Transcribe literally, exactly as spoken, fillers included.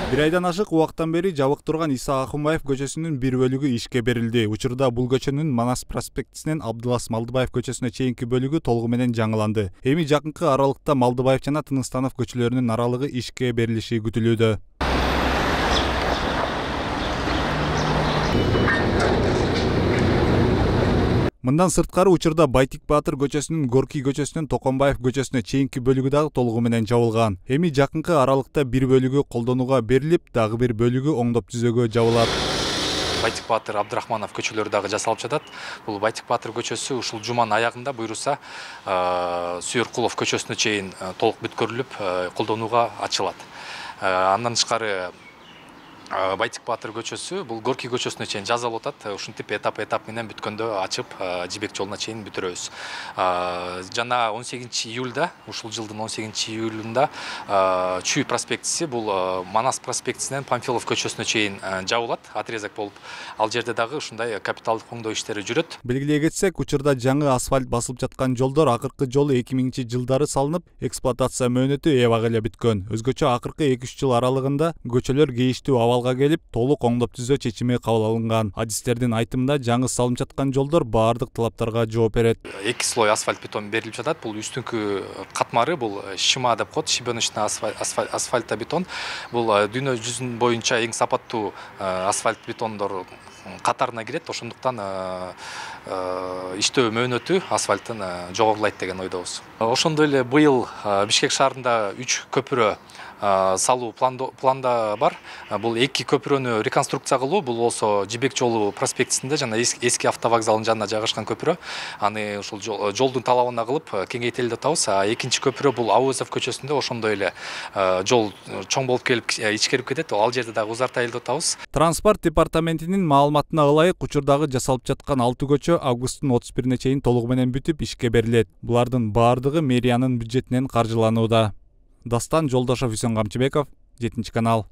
Бир айдан ашык убакыттан бери жабык турган Иса Акунбаев көчөсүнүн бир бөлүгү ишке берилди. Учурда бул көчөнүн Манас проспектисинен Абдылас Малдыбаев көчөсүнө чейинки бөлүгү толугу менен жаңыланды. Эми жакынкы аралыкта Малдыбаев жана Тыныстанов көчөлөрүнүн аралыгы ишке берилиши күтүлүүдө. Мындан сырткары учурда Байтик Баатыр көчөсүнүн Горкий көчөсүнөн Токонбаев көчөсүнө чейинки бөлүгү дагы толугу менен жабылган. Эми жакынкы аралыкта бир бөлүгү колдонууга берилип, дагы бир бөлүгү оңдоп түзөөгө жабылат. Байтик Баатыр, Абдрахманов көчөлөрү дагы жасалып жатат. Бул Байтик Баатыр көчөсү ушул жуманын аягында буйруса Сүйөркулов көчөсүнө чейин толук бүткөрүлүп, колдонууга ачылат. Андан тышкары Байтик Баатыр көчөсү бул Горкий көчөсүнө чейин жазалып атат. Ушинтип этап этап менен бүткөндө ачып Жибек жолуна чейин бүтүрөбүз. Жана он сегизинчи июлда, ушул жылдын он сегизинчи июлунда Чүй проспектиси бул Манас проспектисинен Памфилов көчөсүнө чейин жабылат, отрезок болуп. Ал жерде дагы ушундай капиталдык оңдоо иштери жүрөт. Белгилей кетсек, учурда жаңы асфальт басылып жаткан жолдор акыркы жолу эки миңинчи жылдары салынып, эксплуатация мөөнөтү эбак эле бүткөн. Өзгөчө акыркы эки үч жыл аралыгында көчөлөр кейиштүү абалга келип, толук оңдоп түзөө чечими кабыл алынган. Адистердин айтымында, жаңы салынып жаткан жолдор баардык талаптарга жооп берет. Эки слой асфальт бетон берилип жатат. Бул үстүнкү катмары бул шима деп коет, шибеночный асфальт бетон. Бул дүйнө жүзүнүн боюнча эң сапаттуу асфальт бетондор катарына кирет. Ошондуктан иштөө мөөнөтү асфальттын жогорулайт деген ойдобуз. Ошондой эле быйыл Бишкек шаарында үч көпүрө салуу планда бар. Бул эки көпүрөнү реконструкция кылуу, бул болсо Жибек жолу проспектисинде жана эски автовокзалдын жанына жайгашкан көпүрө. Аны ушул жолдун талабына кылып кеңейтели деп атабыз. Экинчи көпүрө бул Абуызов көчөсүндө ошондой эле жол чоң болуп келип ичкерип кетет. Ал жерде дагы узартайлы деп атабыз. Транспорт департаментинин маалыматына ылайык, учурдагы жасалып жаткан алты көчө августтун отуз бирине чейин толугу менен бүтүп ишке берилет. Булардын баардыгы мэриянын бюджетинен каржыланууда. Дастан Жолдошов, Үсөн Камчыбеков, жетинчи канал.